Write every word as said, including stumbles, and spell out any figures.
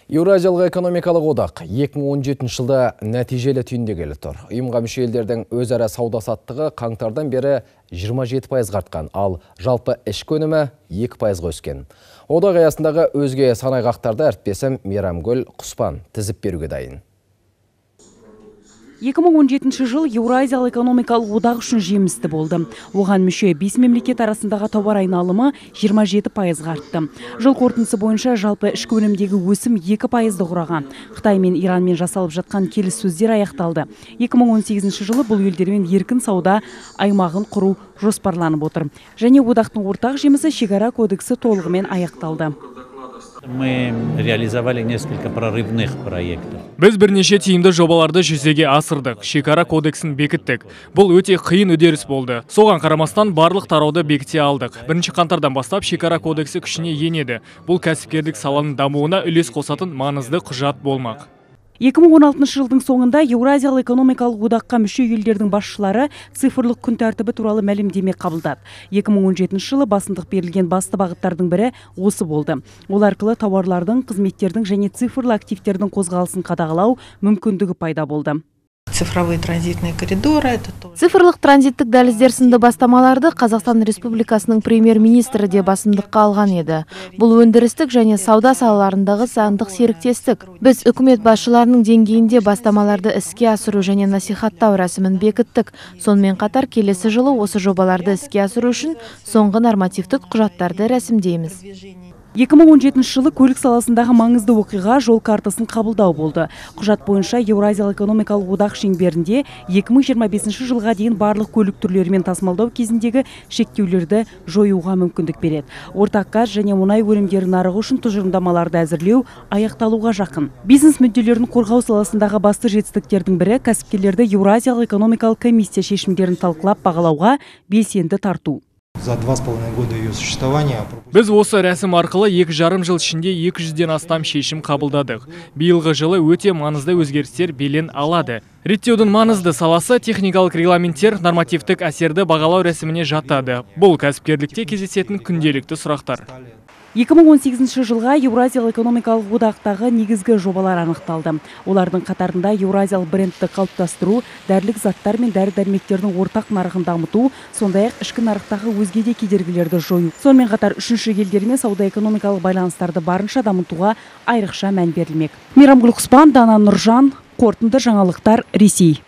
Еуразиялық экономикалық одақ екі мың он жетінші жылда нәтижелі түйінде келі тұр. Ұйымға мүше елдердің өзара сауда саттығы қаңтардан бері жиырма жеті пайызға артқан, ал жалпы ішкі өнімі екі пайызға өскен. Одақ аясындағы өзге санайғақтарды әріптесім Мейрамгүл Құспан тізіп беруге дайын. екі мың он жетінші жыл Еуразиялық экономикалық одақ үшін жемісті болды. Оған мүше бес мемлекет арасындағы тауар айналымы жиырма жеті пайызға артты. Жыл қорытындысы бойынша жалпы ішкі өнімдегі өсім екі пайызды құраған. Қытай мен Иранмен жасалып жатқан келіссөздер аяқталды. екі мың он сегізінші жылы бұл елдермен еркін сауда аймағын құру жоспарланып отыр. Және одақтың ортақ жемісі шекара кодексі толығымен аяқталды. Мы реализовали несколько прорывных проектов. Біз бірнеше тиімді жобаларды жүзеге асырдық. Шекара кодексін бекіттік. Бұл өте қиын үдеріс болды. Соған қарамастан барлық тарауды бекіте алдық. Бірінші қаңтардан бастап шекара кодексі күшіне енеді. Бұл кәсіпкерлік саланың дамуына үлес қосатын маңызды құжат болмақ. екі мың он алтыншы жылдың соңында Еуразиялық экономикалық одаққа мүше елдердің басшылары цифрлық күн тәртібі туралы мәлімдеме қабылдады. екі мың он жетінші жылы басымдық берілген басты бағыттардың бірі осы болды. Ол арқылы тауарлардың, қызметтердің және цифрлы активтердің қозғалысын қадағалау мүмкіндігі пайда болды. Цифровые транзитные коридоры. Это тоже. Цифрлық транзиттік дәліздер сынды бастамаларды Қазақстан Республикасының премьер-министрі де басымдыққа алған еді. Бұл өндірістік және сауда салаларындағы заңдық серіктестік. Біз үкімет басшыларының деңгейінде бастамаларды іске асыру және насихаттау рәсімін бекіттік. Сонымен қатар келесі жылы осы жобаларды іске асыру үшін соңғы нормативтік құжаттарды рәсімдейміз. екі мың он жетінші жылы көлік саласындағы маңызды оқиға жол картасын қабылдау болды. Құжат бойынша Еуразиялық экономикалық одақ шеңберінде екі мың жиырма бесінші жылға дейін барлық көлік түрлерімен тасымалдау кезіндегі шектеулерді жоюға мүмкіндік береді. Ортақ газ және мұнай өнімдері нарығы үшін тұжырымдамаларды әзірлеу аяқталуға жақын. Бизнес мүдделерін қорғау саласындағы басты жетістіктердің бірі кәсіпкерлерді Еуразиялық экономикалық комиссия шешімдерін талқылап бағалауға белсенді тарту. За два с половиной года ее существования. Біз осы рәсім арқылы екі жарым жыл ішінде екі жүзден астам шешім қабылдадық. Биылғы жылы өте маңызды өзгерістер белең алады. Реттеудің маңызды саласы техникалық регламенттер нормативтік әсерді бағалау рәсіміне жатады. Бұл кәсіпкерлікте кездесетін күнделікті сұрақтар. екі мың он сегізінші жылға Еуразиялық экономикалық одақтағы негізгі жобалар анықталды. Олардың қатарында Еуразиялық брендті қалыптастыру, дәрілік заттар мен дәрі-дәрмектердің ортақ нарығын дамыту, сондай-ақ ішкі нарықтағы өзге де кедергілерді жою. Сонымен қатар үшінші елдермен сауда-экономикалық байланыстарды барынша дамытуға айрықша мән берілмек. Мейрамгүл Құспан, Дана Нұржан, қорытынды жаңалықтар, Ресей.